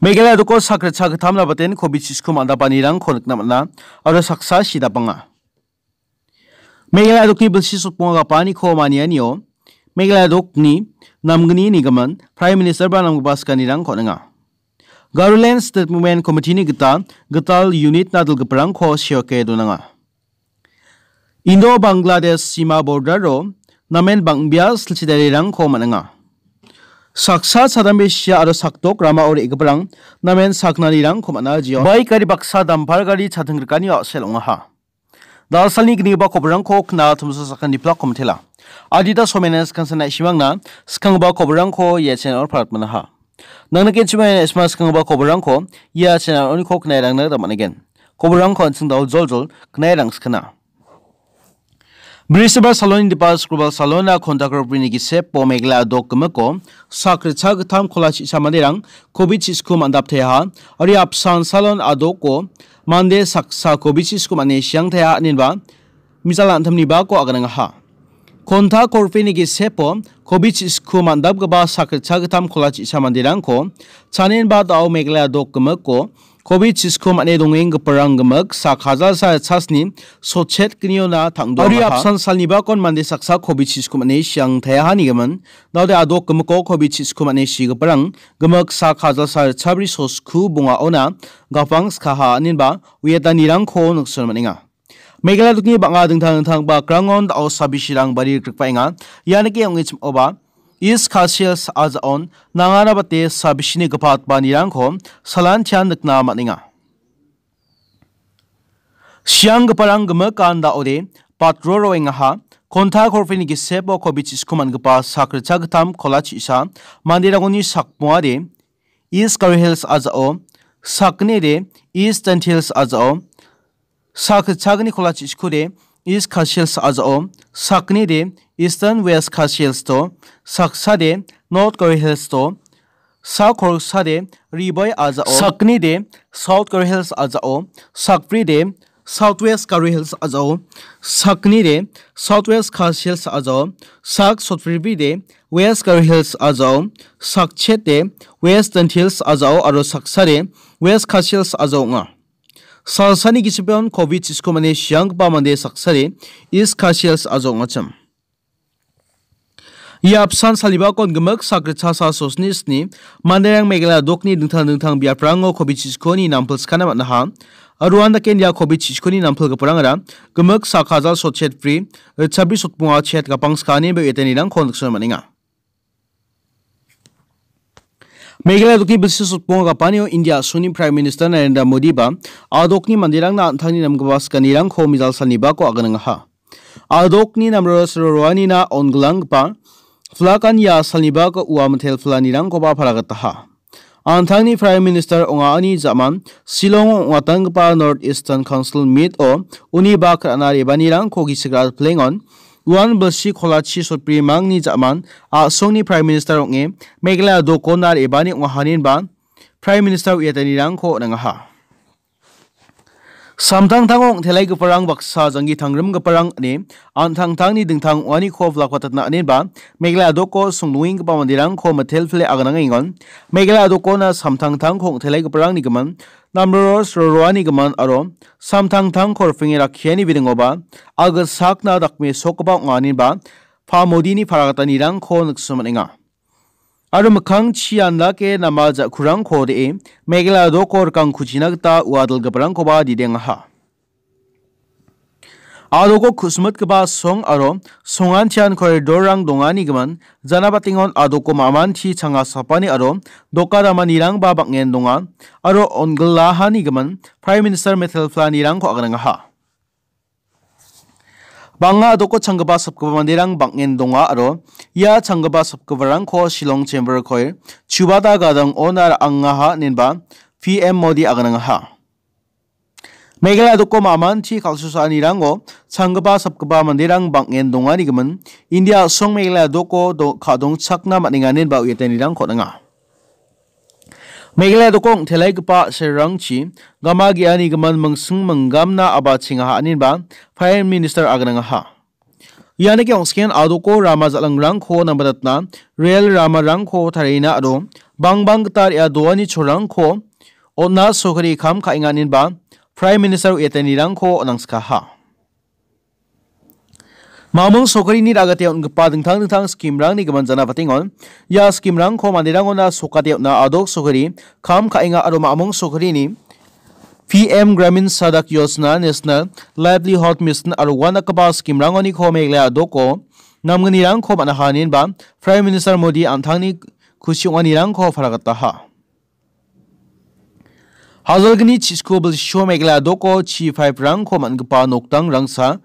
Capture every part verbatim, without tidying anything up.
Meghalaya doko sak ritcha gittam nabaten covid sixko man·dapanirangko nikna man·a aro saksa sidapanga. Meghalaya dokni bilsi sotbonga gapaniko manianio Meghalaya dokni namgni nigimin Prime Minister ba namgipa sikanirangko on·enga. Garoland State Movement Committee-ni gita gital unit-na dilgiparangko seoke donanga. Indo-Bangladesh sima border-o namen bang·bea silchidarirangko man·enga. Saksa chadambesia aro sakdok ramao re·giparang namen saknanirangko man·a jeon. Baik gari baksa dampar gari chating rikanio a·sel ong·aha. Dalsalni gnigipa koborangko kna tumsa sakani plak komitela. Adita somena skansa na·simangna skanggipa koborangko ia channel-o paratmanaha. Nangnikenchimani na·sima skanggipa koborangko ia channel-oniko knairangna gita man·egen. Koborangko an·ching dao joljol knairang skana. Brisbane salon indipa Scrubal salon-a kontak roprini gisepo Meghalaya dok gimiko sak ritcha gittam kola chisa manderang covid sixko man·dapteha. Ari apsan salon adoko mande saksa covid sixko man·e siangteha aninba mijal an·tamnibako aganangaha. Kontak roprini gisepo covid sixko man·dapgipa sak ritcha gittam kola chisa manderangko chanenba dao Meghalaya dok gimiko covid sixko man·e dongenggiparang gimik sak hajalsa ritchasni sotchet gniona tangdoaha. Ari apsan salnibakon mande saksa covid sixko man·e siangtayaha nigimin. Daode adok gimiko covid sixko man·e sigiparang gimik sak hajalsa ritchabri sosku bongaona gapang skaha aninba uiatanirangko nikson man·enga. Meghalaya dokni bang·a dingtang dingtang bakrangon dao sabisirang bari rikbaenga. Ia nike ong·e chim·oba East Khasi Hills a·jaon nanganabate sabisini gipatbanirangko salantian nikna man·enga. Sianggiparang gimikan daode patrol roengaha. Kontak roprini gisepo covid sixko man·gipa sak ritcha gittam kola chisa manderangoni sakbongade East Garo Hills a·jao, sakgnide East Jaintia Hills a·jao, sak ritchagni kola chiskode East Khasi Hills a·jao, sakgnide Eastern West Khasi Hills to, saksade North Garo Hills to, sak kolsade Ri Bhoi a·jao, sakgnide South Garo Hills a·jao, sakbride South West Garo Hills a·jao, sakgnide South West Khasi Hills a·jao, sak sotbribride West Garo Hills a·jao, sakchete West Jaintia Hills a·jao aro saksade West Khasi Hills a·jao ong·a. Salsani gisepeon covid sixko mane sianggipa mande saksade East Khasi Hills a·jao ong·achim. Ia apsan salibakon gimik sakritchasa sosni sni manderang Meghalaya dokni dingtang dingtang biaprango covid sixkoni nampilskana man·aha. Aruan daken ia covid sixkoni nampilgiparangara gimik sak hajal sotchet bri, ritchabri sotbonga chet gapang skani be uetanirangko nikna man·enga. Meghalaya dokni bilsi sotbonga gapanio India a·songni Prime Minister Narendra Modi ba a dokni manderangna an·tangni namgipa sikanirangko mijal salnibako aganangaha. A dokni namroro sero roanina ongilanggipa plakan ia salnibako ua mitel planirangkoba paragataha. An·tangni Prime Minister ong·ani ja·man Shillong ong·atanggipa North Eastern Council Meet-o uni bak ra·na rebanirangko gisik ra·plengon uan bilsi kolachi sotbrimangni ja·man a·songni Prime Minister ong·e Meghalaya dokona re·bani ong·ahaninba Prime Minister uiatanirangko on·angaha. Samtangtango ong·telaigiparang baksa janggi tangrimgiparang ine an·tangtangni dingtang ong·aniko bilakbatatna aninba Meghalaya doko songdongenggipa manderangko mitelpile aganangengon. Meghalaya dokona samtangtangko ong·telaigiparangni gimin, namroro sroroani gimin aro samtangtangko ripenge rakkiani biringoba agilsakna dakmesokgipa ong·a aninba Pa Modini paragatanirangko nikso man·enga. Aro mikkangchi andake nama ja·kurangko de·e Meghalaya doko rikangkuchina gita ua dilgiparangkoba didengaha. A doko ku·smitgipa song aro songantian koridorrang dongani gimin, janabatengon a doko mamanti changa sapani aro doka damanirangba bang·en donga aro ongilahani gimin Prime Minister metel planirangko aganangaha. Bang·a a doko changgipa sapgipa manderang bang·en donga aro ia changgipa sapgiparangko Shillong Chamber Choir, Chubata Gadang Ona ra·angaha inenba P M Modi aganangaha. Meghalaya doko mamanchi kal·susaanirango changgipa sapgipa manderang bang·en dongani gimin, India a·song Meghalaya doko do-, ka·dongchakna man·enga inenba uiatanirangko on·enga. Meghalaya doko ong·telaigipa serrangchi gama ge·ani gimin mingsing minggamna abachengaha aninba Prime Minister aganangaha. Ianike ong·skengan a doko rama jal·angrangko nambatatna, rel ramarangko tarina aro bangbang gita re·a doani cholrangko on·a sorkari kam ka·enga inenba Prime Minister uiatanirangko on·angskaha. Mamung sorkarini ragate on·gipa dingtang dingtang skimrangni gimin jana patengon. Ia skimrangko manderangona sokate on·a adok sorkari kam ka·enga aro mamung sorkarini P M Gramin Sadak Yojana, National Livelihood Mission aro uandakgipa skimrangoniko Meghalaya adoko namgnirangko man·aha inenba Prime Minister Modi an·tangni kusi ong·anirangko palagataha. Hajalgni chisiko bilsio Meghalaya adoko chi paiprangko man·gipa nokdangrangsa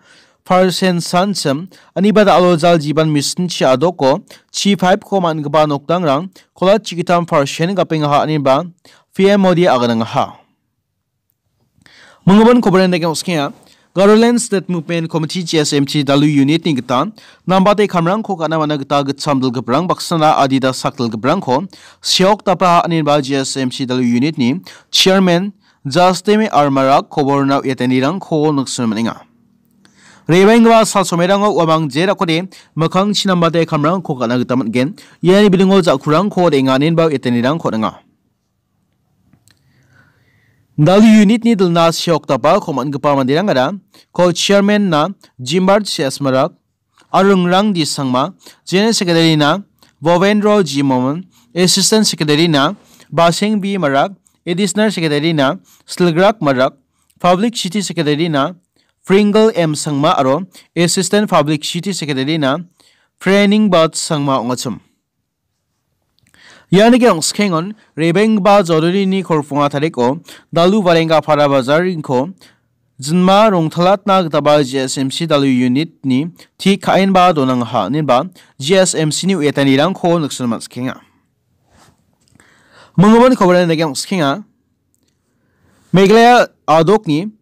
percent sanchim, aniba da·alo Jal Jeevan Mission chi adoko chi paipko man·gipa nokdangrang kola chigitam percent gapengaha inenba P M Modi aganangaha. Minggimin kobaran dake okskenga. Garoland State Movement Committee, G S M C Dalu Unit-ni gita nambate kamrangko ka·na man·a gita gitcham dilgiprang baksana adita sak dilgiprangko seok dapa ha·anenba G S M C Dalu Unit-ni Chairman Justine R Marak koborna uiatanirangko niksin man·enga. Rebenggipa sal somerango uamang jerakode mikkangchi nambate kamrangko ka·na gita man·gen. Iani bidingo ja·kurangko re·enga inenba uiatanirangko on·enga. Dalu unit-ni dilna seok dapa ko man·gipa manderangara, ko chairman-na Jimbar C S Marak, aro Ringrang D Sangma, General Secretary-na Bhavendra G Momin, Assistant Secretary-na Baseng B Marak, Additional Secretary-na Silgrak Marak, Publicity Secretary-na Pringle M Sangma aro Assistant Publicity Secretary-na Prening Bat Sangma ong·achim. Ianike ongskengon rebenggipa jodorini kolponga tariko Dalu Warenga Para Bazarinko jinma rongtalatna gitaba G S M C Dalu unit-ni tik ka·enba donangaha inenba G S M C-ni uiatanirangko niksin man·sikenga. Minggimin kobaran dake ongskenga. Meghalaya adokni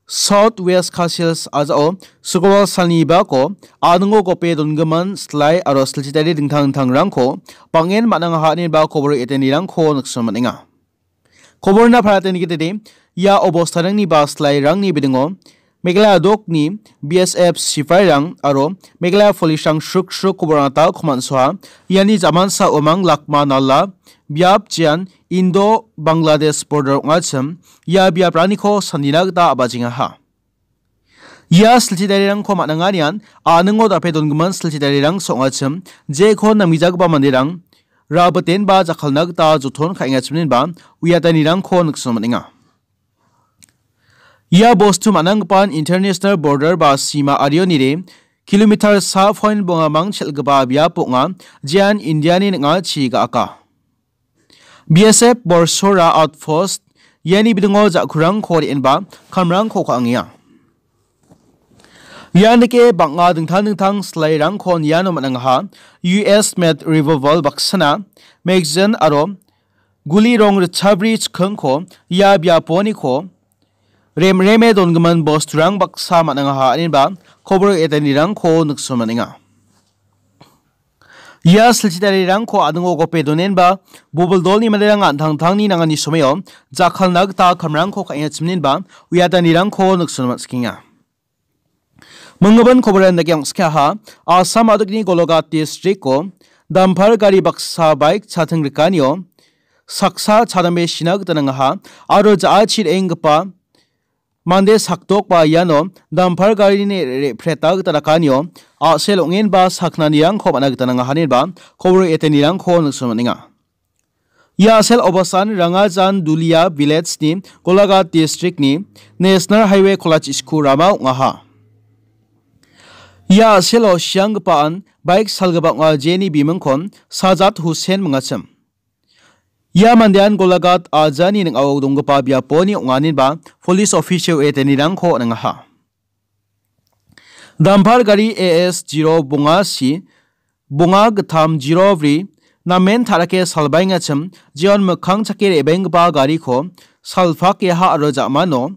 South West Khasi Hills a·jao sukolwal salni bako a·ningo gope dongimin silai aro silchitari dingtang dingtangrangko bang·en man·angaha ineba kobor etanirangko nikna man·enga. Koborna palateni gitede ia obostarangni ba silairangni bidingo Meghalaya dokni B S F sipairang aro Meghalaya police-rang sruk sruk koborna ta komansoa iani jamansa umang lakma nala biap jean Indo-Bangladesh border ong·achim ia biapraniko sanina gita a·bachengaha. Ia silchi darirangko man·anganian a·ningo dape dongimin silchi darirang so ong·achim jeko namgijagipa manderang rabitenba jakkalna gita joton ka·engachiminba uiatanirangko nikna man·enga. Ia bostu man·anggipan international border ba sima arionide kilometer sa point bongamang chel·gipa biap ong·a, jean Indiani ning·achi ga·aka. B S F Borsora outpost iani bidingo ja·kurangko re·enba kamrangko ka·angenga. Ian dake bang·a dingtang dingtang silairangkon iano man·angaha. U S made revolver baksana, magazine aro guli rong ritchabri chikkingko ia biaponiko remreme dongimin bosturang baksa man·angaha ineba kobor etanirangko nikna man·enga. Ia silchi darirangko a·ningo gope donenba, bobil dolni manderang an·tangtangni nangani someo jakkalna gita kamrangko ka·engachiminenba uiatanirangko nikna man·sikenga. Minggimin koboran dake ong·sikaha, Assam adikni Golaghat districto dampar gari baksa baik chating rikanio saksa chadambe sina gita nangaha aro ja·achi re·enggipa mande sakdokba iano dampar garini re·, re·, repreta gita dakanio a·sel ong·enba saknanirangko man·a gita nangaha ineba kobor etanirangko nikna man·enga. Ia a·sel obasan Rangajan Dulia village-ni Golaghat district-ni National Highway kolachi sku rama ong·aha. Ia a·selo sianggipaan baik salgipa ong·a jeni bimingkon Sajat Hussain mingachim. Ia mandean Golaghat ajani ning·ao donggipa biaponi ong·a ineba police officio etanirangko on·angaha. Dampar gari A S zero bonga si, bonga gittam zero bri, namen ta·rake salbaengachim, jeon mikkang chake re·baenggipa gariko salpakeaha aro ja·mano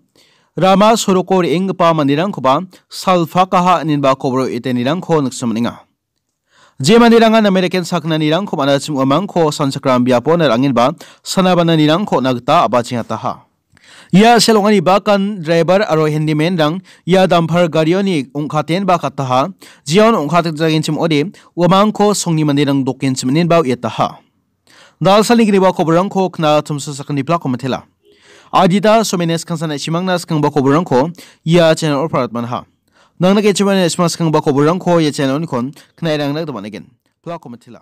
rama soroko re·enggipa manderangkoba salpakaha ineba kobor etanirangko nikna man·enga. Je manderangan American saknanirangko man·achim uamangko sanchakram biapona ra·angenba sana bananirangko on·a gita a·bachengataha. Ia a·sel ong·ani bakan driver aro handyman-rang ia dampar garioni ong·katenba kataha, jeon ong·katjagenchim ong·ode uamangko songni manderang dokenchim inenba uiataha. Dalsalni gniba koborangko kna tumsa sakni plako matela. Adita somene skangsan chimangna skangba koborangko ia channel-o parat manha. Nangna kechimani chimang skangba koborangko ia channel-onikon knairangna gita man·egen. Plako matela.